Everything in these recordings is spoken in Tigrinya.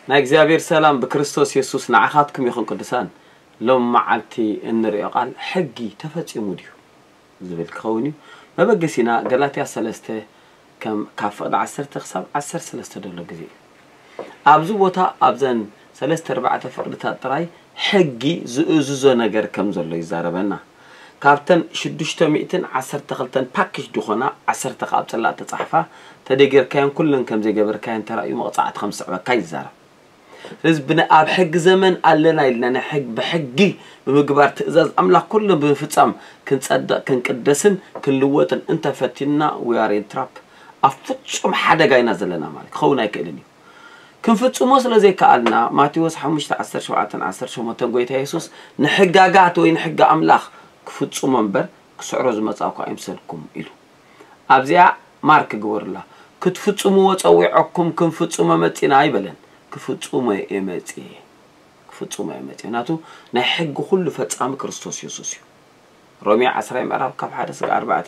ናይ እግዚኣብሔር ሰላም ብክርስቶስ የሱስ ንዓኻትኩም ይኹን። ቅዱሳን፣ ሎም መዓልቲ እንርእዮ ቃል ሕጊ ተፈጺሙ ድዩ ዝብል ክኸውን እዩ። መበገሲና ገላትያ ሰለስተ፣ ከም ካብ ፍቕዲ ዓሰርተ ክሳብ ዓሰርተ ሰለስተ ዘሎ ግዜ እዩ። ኣብዚ ቦታ ኣብዘን ሰለስተ ኣርባዕተ ፍቕድታት ጥራይ ሕጊ ዝእዝዞ ነገር ከም ዘሎ ይዛረበና። ካብተን ሽዱሽተ ሚእትን ዓሰርተ ክልተን ፓኬጅ ዝኾና ዓሰርተ ካብ ጽላእ ተጻሕፋ፣ ተደጊርካዮን ኩለን ከም ዘይገበርካዮን ተራእዩ መቕጻዕቲ ከም ዝስዕበካ ይዛረብ። ስለዚ ብን ኣብ ሕጊ ዘመን ኣለና ኢልና ናይ ሕግ ብሕጊ ብምግባር ትእዛዝ ኣምላኽ ኩሉ ብምፍጻም ክንጸድቕ ክንቅደስን ክንልወጥን እንተፈቲንና we are in trap። ኣብ ፍጹም ሓደጋ ኢና ዘለና ማለት ክኸውን ኣይክእልን እዩ። ክንፍጽሞ ስለ ዘይከኣልና ማቴዎስ ሓሙሽተ ዓሰርተ ሸውዓተን ዓሰርተ ሸሞንተን ጎይታ የሱስ ንሕጋጋት ወይ ንሕጊ ኣምላኽ ክፍጽሞ እምበር ክስዕሮ ዝመጻእኩ ኣይምሰልኩም ኢሉ። ኣብዚኣ ማርክ ግበሩላ። ክትፍጽምዎ ጸዊዖኩም ክንፍጽሞ መጺና ኣይበለን። ክፍጽሞ እየ መጺኤ። ክፍጽሞ እየ መጺኤ። ናቱ ናይ ሕጊ ኩሉ ፈጻሚ ክርስቶስ የሱስ እዩ። ሮሜ ዓስራይ ምዕራፍ ካብ ሓደ ስጋ ኣርባዕተ።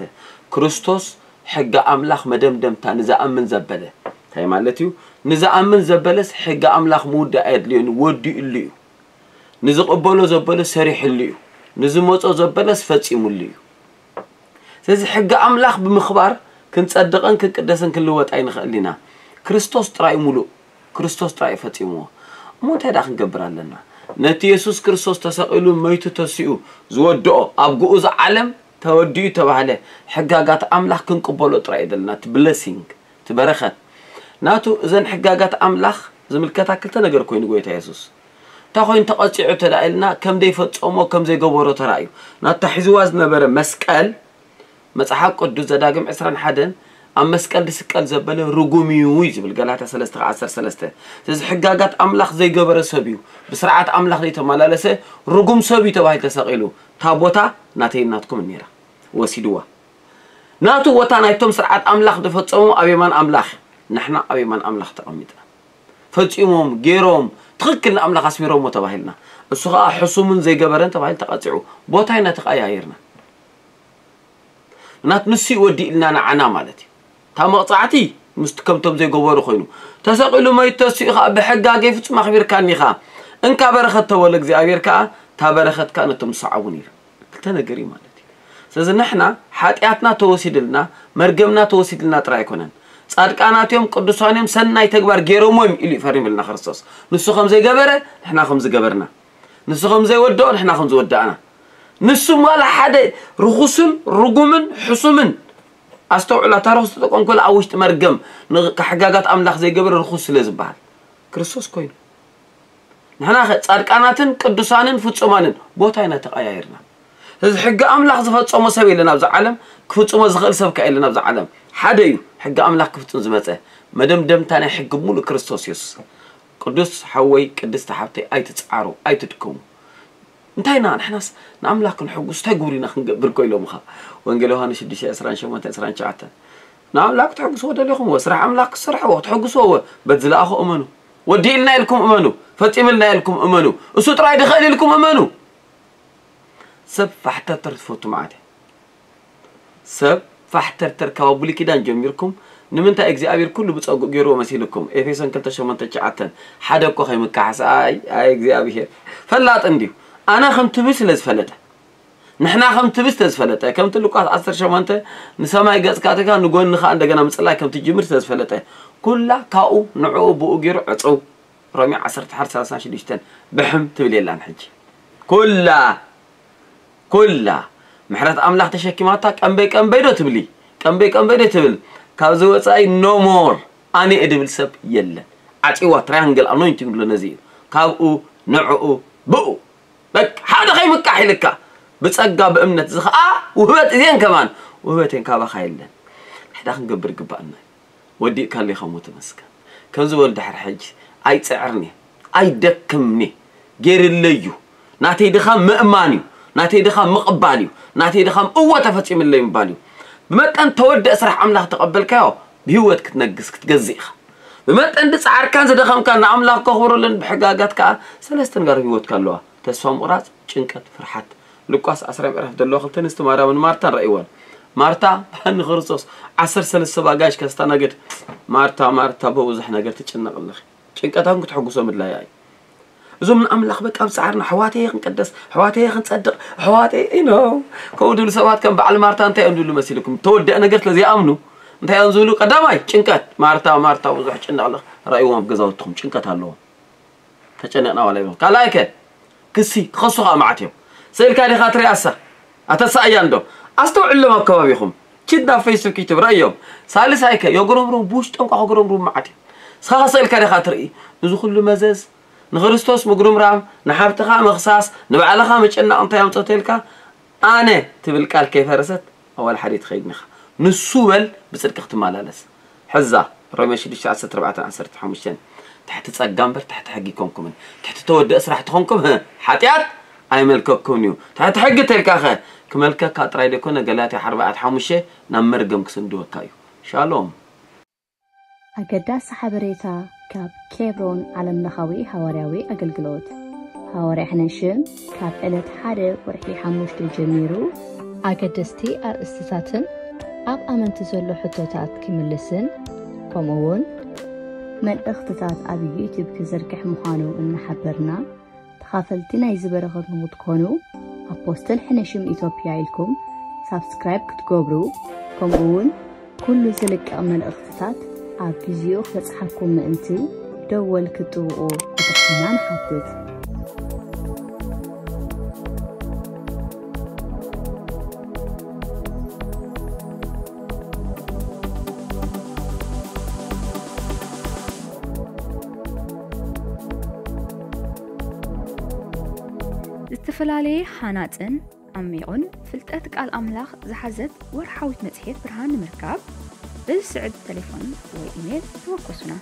ክርስቶስ ሕጊ ኣምላኽ መደምደምታ ንዝኣምን ዘበለ። እንታይ ማለት እዩ? ንዝኣምን ዘበለስ ሕጊ ኣምላኽ ምውዳእ ኣየድልዮን ወዲኡሉ እዩ። ንዝቕበሎ ዘበለ ሰሪሕሉ እዩ። ንዝመጾ ዘበለስ ፈጺሙሉ እዩ። ስለዚ ሕጊ ኣምላኽ ብምኽባር ክንጸድቕን ክንቅደስን ክንልወጥ ኣይንኽእል ኢና። ክርስቶስ ጥራይ ሙሉእ፣ ክርስቶስ ጥራይ እዩ ፈጺምዎ። እሞ እንታይ ደኣ ክንገብር ኣለና? ነቲ የሱስ ክርስቶስ ተሰቒሉ መይቱ ተሲኡ ዝወድኦ ኣብ ግኡዝ ዓለም ተወዲኡ ተባህለ ሕጋጋት ኣምላኽ ክንቅበሎ ጥራይ እዩ ዘለና። እቲ ብለሲንግ፣ እቲ በረኸት ናቱ እዘን ሕጋጋት ኣምላኽ ዝምልከታ ክልተ ነገር ኮይኑ ጎይታ የሱስ እንታይ ኮይኑ ተቐጺዑ ተዳኢልና ከም ዘይፈጸሞ ከም ዘይገበሮ ተራእዩ። ናታ ሒዝዋ ዝነበረ መስቀል መጽሓፍ ቅዱስ ዘዳግም ዕስራን ሓደን ኣብ መስቀል ዝስቀል ዘበለ ርጉም እዩ እዩ ዝብል ገላትያ ሰለስተ ዓሰርተ ሰለስተ። ስለዚ ሕጋጋት ኣምላኽ ዘይገበረ ሰብ እዩ፣ ብስርዓት ኣምላኽ ዘይተመላለሰ ርጉም ሰብ እዩ ተባሂሉ ተሰቒሉ። እታ ቦታ ናተይ ናትኩም ነይራ፣ ወሲድዋ። ናቱ ቦታ ናይቶም ስርዓት ኣምላኽ ዝፈጸሙ ኣብ የማን ኣምላኽ፣ ንሕና ኣብ የማን ኣምላኽ ተቐሚጥና። ፈጺሞም፣ ገይሮም፣ ትኽክል ንኣምላኽ ኣስሚሮሞ ተባሂልና። እሱ ኸኣ ሕሱምን ዘይገበረን ተባሂሉ ተቐጺዑ። ቦታ ኢና ተቐያይርና። ምክንያቱ ንሱ እዩ ወዲእልና ንዓና ማለት እዩ። እታ መቕጻዕቲ ምስቲ ከምቶም ዘይገበሩ ኮይኑ። ተሰቒሉ መይቱ ተሲኡ ኸኣ ብሕጋገ ፍጹም ኣኽቢርካኒ ኢኻ። እንካ በረኸት ተወለ እግዚኣብሔር ከኣ እታ በረኸት ከኣ ነቶም ዝሰዓቡን ኢሉ። ክልተ ነገር እዩ ማለት እዩ። ስለዚ ንሕና ሓጢኣትና ተወሲድልና፣ መርገምና ተወሲድልና ጥራይ ኣይኮነን። ጻድቃናት እዮም፣ ቅዱሳን እዮም፣ ሰናይ ተግባር ገይሮም እዮም ኢሉ እዩ ፈሪምልና ክርስቶስ። ንሱ ከም ዘይገበረ ንሕና ከም ዝገበርና፣ ንሱ ከም ዘይወደኦ ንሕና ከም ዝወዳእና። ንሱ ዋላ ሓደ ርኹስን ርጉምን ሕሱምን፣ ኣስተውዕላ፣ እታ ርኹስ ተጠቀምኩላ ኣብ ውሽጢ መርገም ን-፣ ሕጋጋት ኣምላኽ ዘይገበረ ርኹስ ስለ ዝበሃል ክርስቶስ ኮይኑ። ንሕና ኸ ጻድቃናትን ቅዱሳንን ፍጹማንን ቦታ ኢና ተቐያይርና። ስለዚ ሕጊ ኣምላኽ ዝፈጸሞ ሰብ የለን ኣብዚ ዓለም፣ ክፍጽሞ ዝኽእል ሰብ ከ የለን ኣብዚ ዓለም። ሓደ እዩ ሕጊ ኣምላኽ ክፍጽም ዝመጸ፣ መደምደምታ ናይ ሕጊ ሙሉእ ክርስቶስ የሱስ። ቅዱስ ሓወይ፣ ቅድስቲ ሓብተይ፣ ኣይትጽዓሩ፣ ኣይትድከሙ። እንታይ ኢና ንሕናስ ንኣምላኽ ክንሕጉስ እንታይ ግብር ኢና ክንገብር እኮ ኢሎምኻ። ወንጌል ዮሃንስ ሽዱሽተ ዕስራን ሸሞንተን ዕስራን ትሽዓተን። ንኣምላኽ ክትሕግስዎ ደሊኹም፣ ወ ስራሕ ኣምላኽ ክትሰርሕዎ፣ ክትሕግስዎ፣ ወ በት ዝለኣኾ እመኑ። ወዲእልና ኢልኩም እመኑ፣ ፈጺምልና ኢልኩም እመኑ፣ እሱ ጥራይ ድኽእል ኢልኩም እመኑ። ሰብ ፋሕተርተር ትፈቱ መዓት እየ። ሰብ ፋሕተርተር ካብ ብሉይ ኪዳን ጀሚርኩም ንምንታይ እግዚኣብሔር ኩሉ ብጸጉ ገይርዎ መሲልኩም? ኤፌሶን ክልተ ሸሞንተ ትሽዓተን። ሓደ እኮ ከይምካሓስ፣ ኣይ፣ ኣይ እግዚኣብሔር ፈላጥ እንድዩ። ኣነ ከም ትብል ስለ ዝፈለጠ፣ ንሕና ከም ትብል ስለ ዝፈለጠ፣ ከምቲ ሉቃስ ዓሰርተ ሸሞንተ ንሰማይ ገጽካ ኣእቲኻ ንጎኒ ከኣ እንደገና ምጽላይ ከም ትጅምር ስለ ዝፈለጠ፣ ኩላ ካብኡ ንዕኡ ብኡ ገይሩ ዕጽው። ሮሜ ዓሰርተ ሓደ ሰላሳ ሽዱሽተ ብሕም ትብል የላን ሕጂ። ኩላ፣ ኩላ ምሕረት ኣምላኽ ተሸኪማታ ቀንበይ ቀንበይ ዶ ትብሊ? ቀንበይ ቀንበይ ዶ ትብል? ካብዚ ወጻኢ no more ኣነ እየ ድብል ሰብ የለን። ዓጺዋ ትራያንግል ኣኖይንቲንግ ብሎ ነዚ እዩ። ካብኡ ንዕኡ ብኡ። በቃ ሓደ ከይምቃሕ ኢልካ ብጸጋ ብእምነት እዚ ኸኣ ውህበት እዜን ከማን ውህበቴን ካባኻ የለን። ንሕዳ ክንገብር ይግባኣና እዩ። ወዲእካለይ ከምኡ ተመስገን። ከምዚ በል ድሕሪ ሕጂ ኣይጽዕርን እየ፣ ኣይደክምን እየ። ገይርለይ እዩ። ናተይ ድኻም ምእማን እዩ። ናተይ ድኻም ምቕባል እዩ። ናተይ ድኻም እወ ተፈጺምለይ ምባል እዩ። ብመጠን ተወደአ ስራሕ ኣምላኽ ተቐበልካዮ ብህይወት ክትነግስ ክትገዝእ ኢኻ። ብመጠን ድጻዕርካን ዝደኸምካን ንኣምላኽ ከኽብረሉን ብሕጋጋት ከኣ ሰለስተ ነጋር ኣብ ህይወትካ ኣለዋ። ተስፋ ምቑራጽ፣ ጭንቀት፣ ፍርሓት። ሉቃስ ዓስራይ ምዕራፍ ዘለዋ ክልተ ኣንስቲ ማርያምን ማርታን ረእይወን። ማርታ ንክርስቶስ ዓሰርተ ሰለስተ ኣጋይሽ ከስተናግድ፣ "ማርታ፣ ማርታ፣ ብብዙሕ ነገር ትጭነቕ ኣለኺ። ጭንቀታን ክትሕጉሶ ምድላያ እዩ። እዞም ንኣምላኽ በቃ ኣብ ጻዕርና ኣሕዋተየ ክንቀደስ፣ ኣሕዋተየ ክንጸድቕ፣ ኣሕዋተየ ኢኖ ከምኡ ድብሉ ሰባት ከም በዓል ማርታ እንታይ እዮም ዝብሉ መሲልኩም? ተወደአ ነገር ስለ ዘይኣምኑ እንታይ እዮም ዝብሉ? ቀዳማይ ጭንቀት። ማርታ፣ ማርታ፣ ብዙሕ ጭንቕ ኣለኺ። ረእይዎም ኣብ ገዛውትኹም ጭንቀት ኣለዎም። ተጨነቕና ዋላ ይብሉ። ካልኣይ ከ ክሲ ክኸሱ ከዓ መዓት እዮም። ስእልካ ዲኻ ትሪኣሳ? ኣተሳእያ እንዶ ኣስተውዕሎም ኣብ ከባቢኹም። ኪድ ናብ ፌስቡክ ዩቱብ ረእዮም። ሳልሳይ ከ የጉረምሩም፣ ብውሽጦም ከዓ ክጉረምሩም መዓት እዮም። ንስኻ ከ ስእልካ ዲኻ ትርኢ? እዚ ኩሉ መዘዝ ንክርስቶስ ምጉርምራም፣ ንሓብትኻ ምኽሳስ፣ ንባዕልኻ ምጭናቕ እንታይ ኣምጸተልካ? ኣነ ትብል ቃል ከይፈረሰት ኣዋል ሓደ ትኸይድ ኢኻ። ንሱ በል ብጽድቂ ክትመላለስ። ሕዛ ሮሜ ሽዱሽተ ዓሰርተ ኣርባዕተ ዓሰርተ ሓሙሽተ፣ ትሕቲ ጸጋ እምበር ትሕቲ ሕጊ ኣይኮንኩምን። ትሕቲ ተወደአ ስራሕ ተኾንኩም፣ ህ፣ ሓጢኣት ኣይመልከኩምን እዩ። ትሕቲ ሕጊ ተልካኸ ክመልከካ ጥራይ ደይኮነ፣ ገላትያ ኣርባዕተ ሓሙሽተ ናብ መርገም ክስንድወካ እዩ። ሻሎም። ኣገዳሲ ሓበሬታ ካብ ኬብሮን ዓለምለኻዊ ሃዋርያዊ ኣገልግሎት። ሃዋርያ ሕነሽም ካብ ዕለት ሓደ ወርሒ ሓሙሽተ ጀሚሩ ኣገደስቲ ኣርእስትታትን ኣብ ኣመንቲ ዘሎ ሕቶታት ክምልስን፣ ከምኡ እውን መልእኽትታት ኣብ ዩቲዩብ ክዝርግሕ ምዃኑ እናሓበርና፣ ተኻፈልቲ ናይዚ በረኸት ንኽትኮኑ ኣፖስትል ሕነሽም ኢትዮጵያ ኢልኩም ሳብስክራይብ ክትገብሩ፣ ከምኡ እውን ኩሉ ዝልቀቕ መልእኽትታት ኣብ ግዚኡ ክበጽሓኩም ምእንቲ ደወል ክትጥውቑ ብትሕትና ንሓትት። ዝተፈላለየ ሃናጽን ዓሚቑን ፍልጠት ቃል ኣምላኽ ዝሓዘት ወርሓዊት መጽሔት ብርሃን ንምርካብ፣ በዚ ስዕብ ተሌፎን ወይ ኢሜል ተወከሱና።